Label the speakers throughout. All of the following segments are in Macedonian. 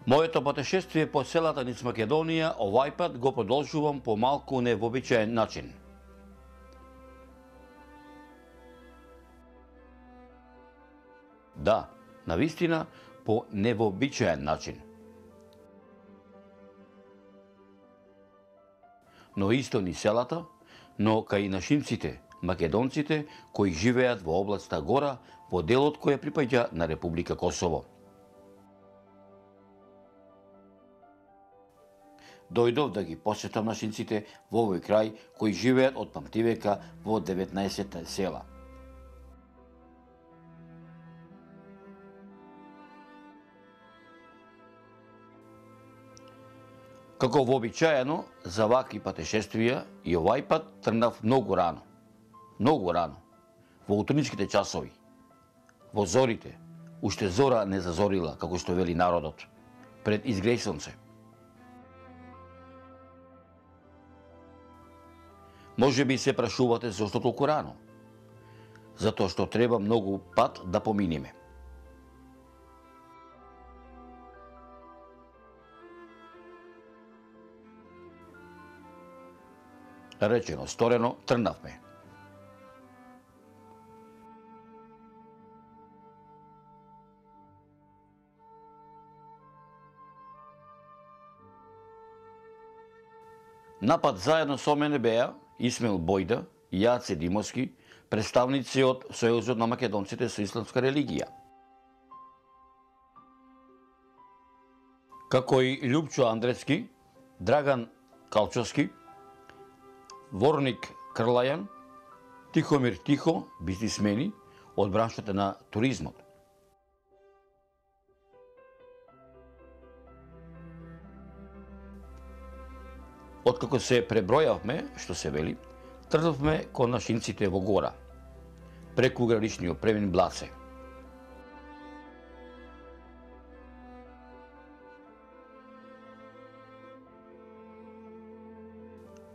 Speaker 1: Моето патешествие по селата низ Македонија овај пат го продолжувам по малку невообичаен начин. Да, навистина по невообичаен начин. Но исто ни селата, но кај нашинците, македонците, кои живеат во областа Гора, во делот кој припаѓа на Република Косово. Дојдов да ги посетам нашинците во овој крај кои живеат од памтивека во 19 села. Како вообичаено за вакви патешествија и овај пат тргнав многу рано, во утринските часови, во зорите, уште зора не зазорила, како што вели народот, пред изгреј сонце. Може би се прашувате зошто толку рано? Затоа што треба многу пат да поминиме. Речено, сторено, тргнавме. Напад заедно со мене беа Исмел Бојда и Јаце Димовски, представници од Сојузот на македонците со исламска религија. Како и Љупчо Андревски, Драган Калчовски, Ворник Крлајан, Тихомир Тихо, бизнисмени од браншата на туризмот. Откако се пребројавме, што се вели, тргнавме кон нашинците во Гора, преку граничниот премин Блаце.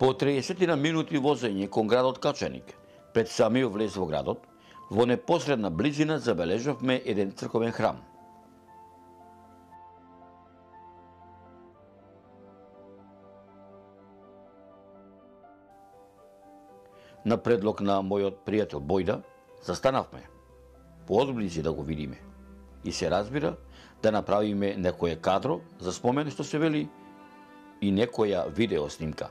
Speaker 1: По 30 минути возење кон градот Качаник, пред самиот влез во градот, во непосредна близина забележавме еден црковен храм. На предлог на мојот пријател Бојда, застанавме поодблизи да го видиме и се разбира да направиме некое кадро за спомен што се вели и некоја видео снимка.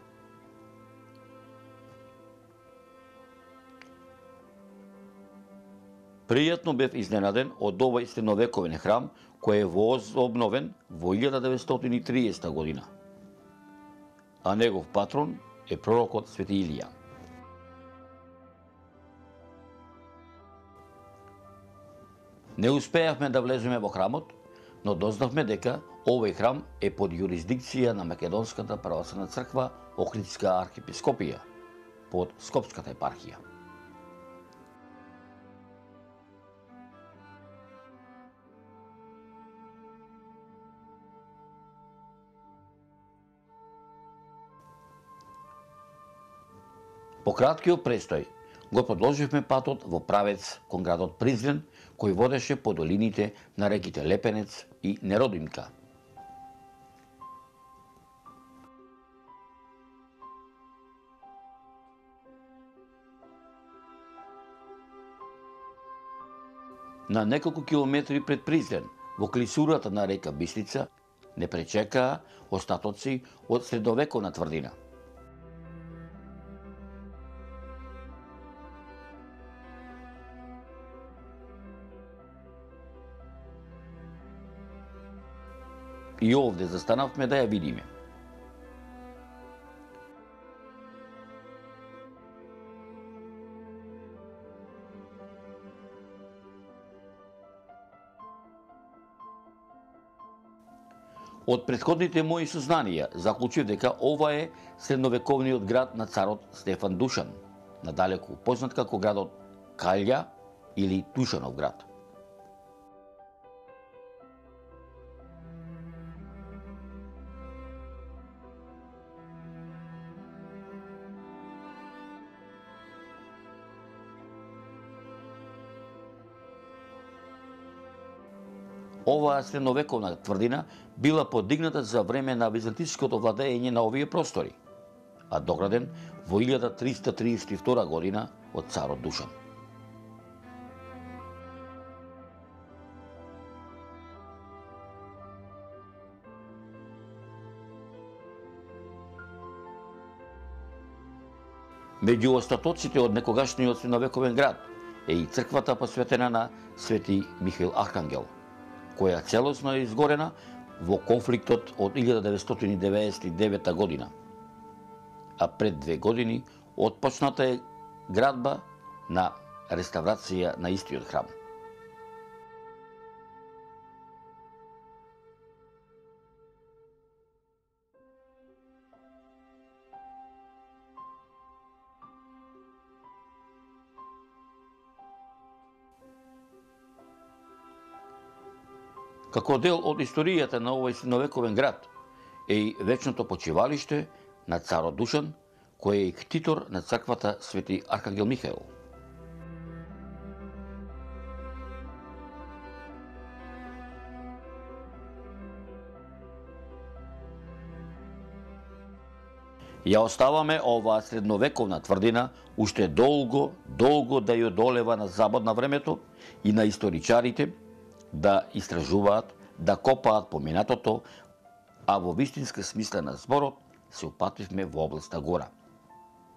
Speaker 1: Пријатно бев изненаден од овој средновековен храм кој е возобновен во 1930 година, а негов патрон е пророкот Свети Илија. Не успеавме да влеземе во храмот, но дознавме дека овој храм е под јурисдикција на Македонската православна црква Охридска архиепископија, под Скопската епархија. По краткиот престој го продолживме патот во правец кон градот Призрен, кој водеше по долините на реките Лепенец и Неродимка. На неколку километри пред Призрен, во клисурата на река Бистрица, не пречекаа остатоци од средновековна тврдина. И овде застанавме да ја видиме. Од претходните мои сознанија заклучив дека ова е средновековниот град на царот Стефан Душан, надалеку познат како градот Калја или Душанов град. Оваа средновековна тврдина била подигната за време на византиското владење на овие простори, а дограден во 1332 година од царот Душан. Меѓу остатоците од некогашниот средновековен град е и црквата посветена на Свети Михаил Архангел, која целосно е изгорена во конфликтот од 1999 година. А пред 2 години отпочната е градба на реставрација на истиот храм. Како дел од историјата на овој средновековен град е и вечното почивалиште на царот Душан, кој е и ктитор на црквата Свети Архангел Михаил. Ја оставаме оваа средновековна тврдина уште долго да ја одолева на забод на времето и на историчарите да истражуваат, да копаат по минатото, а во вистинска смисла на зборот се упативме во областа Гора,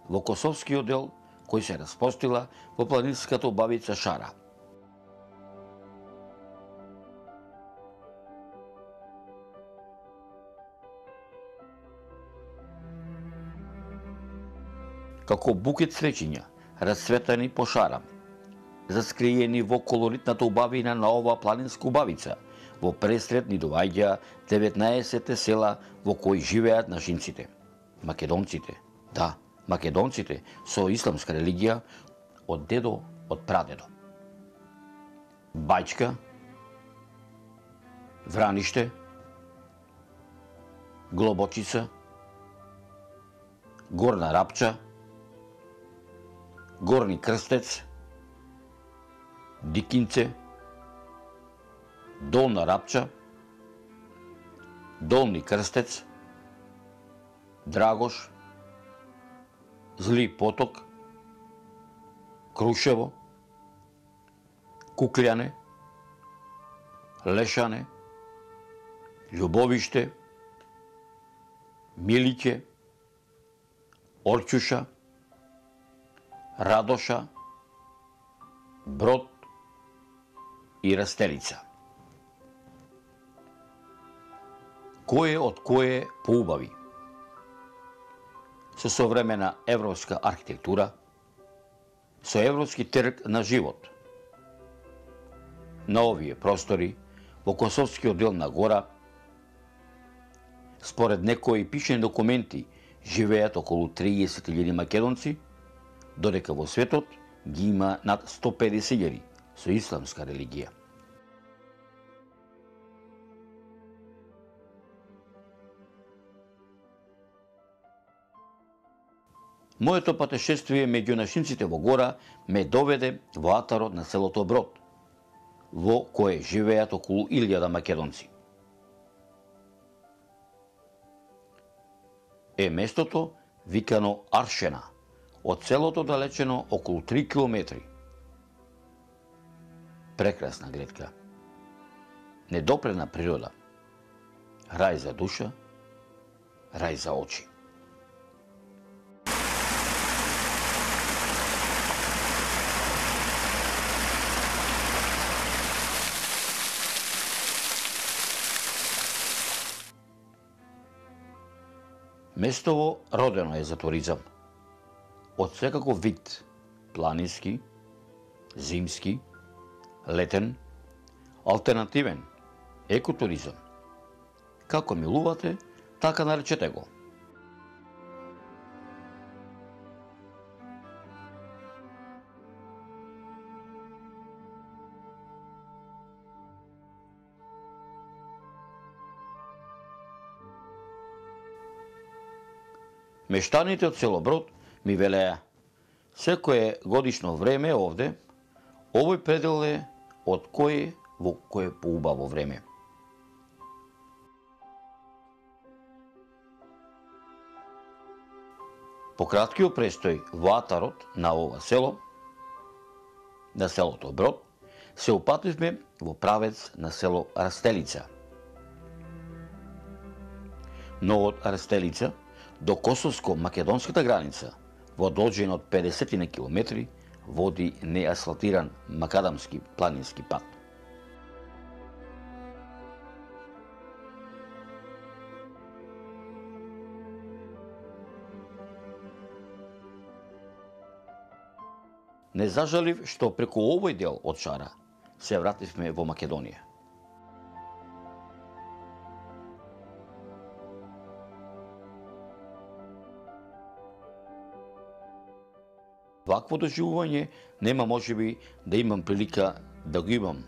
Speaker 1: во Косовскиот дел кој се распостила во планинската убавица Шара. Како букет цвеќиња, расцветани по Шара, заскриени во колоритната убавина на оваа планинска убавица, во пресред ни доаѓа 19 села во кои живеат нашинците, македонците. Да, македонците со исламска религија од дедо, од прадедо. Бајчка, Враниште, Глобочица, Горна Рапча, Горни Крстец, Дикинце, Долна Рапча, Долни Крстец, Драгош, Зли Поток, Крушево, Кукљане, Лешане, Љубовиште, Милиќе, Орќуша, Радоша, Брод и Растелица. Кое од кое поубави? Со современа европска архитектура, со европски трг на живот. На овие простори, во Косовскиот дел на Гора, според некои пишени документи, живеат околу 30.000 македонци, додека во светот ги има над 150.000 со исламска религија. Моето патешествие меѓу нашинците во Гора ме доведе во атарот на селото Брод, во кое живеат околу 1000 македонци. Е местото викано Аршена, од селото далечено околу 3 километри. Прекрасна гледка, недопрена природа, рај за душа, рај за очи. Местово родено е за туризам. Од секаков вид, планински, зимски, летен, алтернативен, екотуризам. Како милувате, така наречете го. Мештаните од село Брод ми велеа, секое годишно време овде, овој предел е од кое во кое поубаво време. По краткиот престој во атарот на ова село, на селото Брод, се упативме во правец на село Растелица. Но од Растелица до косовско-македонската граница во должина од 50 километри води неасфалтиран макадамски планински пат. Не зажалив што преку овој дел од Шара се вративме во Македонија. Вакво доживување нема можеби да имам прилика да го имам.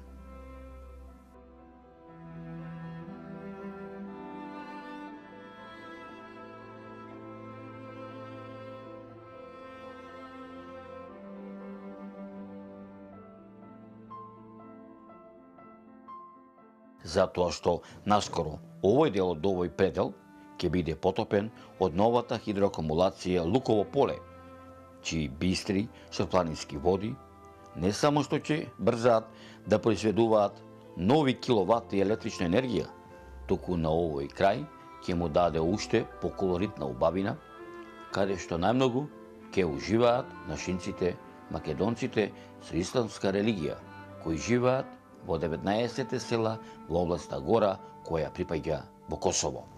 Speaker 1: Затоа што наскоро овој дел од овој предел ќе биде потопен од новата хидроакумулација Луково поле, чии бистри со планински води не само што ќе брзаат да произведуваат нови киловати електрична енергија, туку на овој крај ќе му даде уште поколоритна убавина, каде што најмногу ќе уживаат нашинците, македонците со исламска религија, кои живеат во 19 села во областа Гора, која припаѓа во Косово.